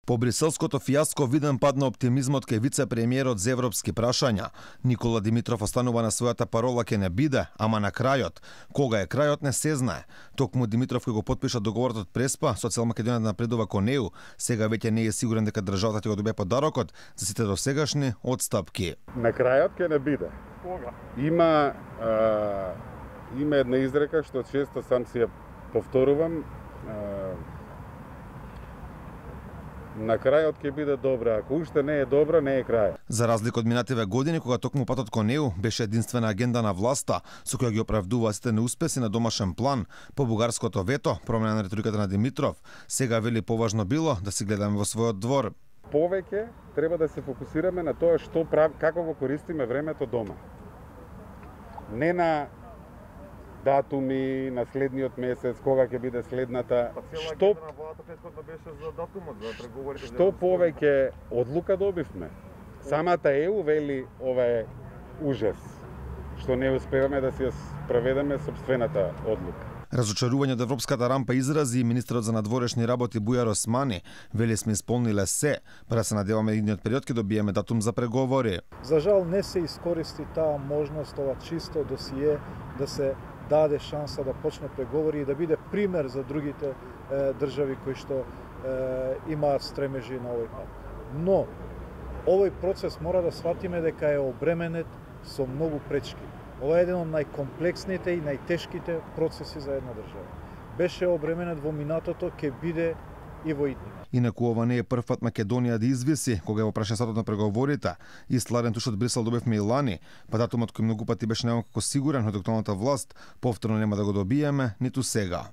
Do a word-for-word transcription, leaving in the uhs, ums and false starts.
По бриселското фијаско виден пад на оптимизмот кај вице-премиерот за европски прашања. Никола Димитров останува на својата парола ке не биде, ама на крајот. Кога е крајот не се знае. Токму Димитров кој го потпиша договорот од Преспа, Социјал Македонија да напредува кон неу, сега веќе не е сигурен дека државата ќе го добие подарокот за сите досегашни отстапки. На крајот ке не биде. Кога? Има а, има една изрека што често сам си ја повторувам. А, На крајот ќе биде добра, ако уште не е добра, не е крај. За разлика од минативе години, кога токму патот кон неу беше единствена агенда на власта, со која ги оправдува сите неуспеси на домашен план, по бугарското вето, промена на риториката на Димитров, сега вели поважно било да си гледаме во својот двор. Повеќе треба да се фокусираме на тоа што прав, како го користиме времето дома. Не на датуми на следниот месец, кога ќе биде следната, што на владата претходно беше за датумот за преговорите. Што повеќе одлука добивме. Самата Е У вели ова е ужас, што не успеваме да си ја спроведеме сопствената одлука. Разочарување од европската рампа изрази и министерот за надворешни работи Бујар Османи. Вели сме исполниле се, па да се надеваме идниот период ќе добиеме датум за преговори. За жал не се искористи таа можност, ова чисто досие да се даде шанса да почне преговори и да биде пример за другите е, држави кои што е, имаат стремежи на овој пат. Но овој процес мора да сватиме дека е обременет со многу пречки. Ова е еден од најкомплексните и најтешките процеси за една држава. Беше обременет во минатото, ќе биде и во иднина. Инаку ова не е прв пат Македонија да извиси кога го прашаја сатот на преговорите. Истларен туш од Брисел добивме и лани, па датумот кој многу пати беше некако сигурен од актуелната власт, повторно нема да го добиеме ниту сега.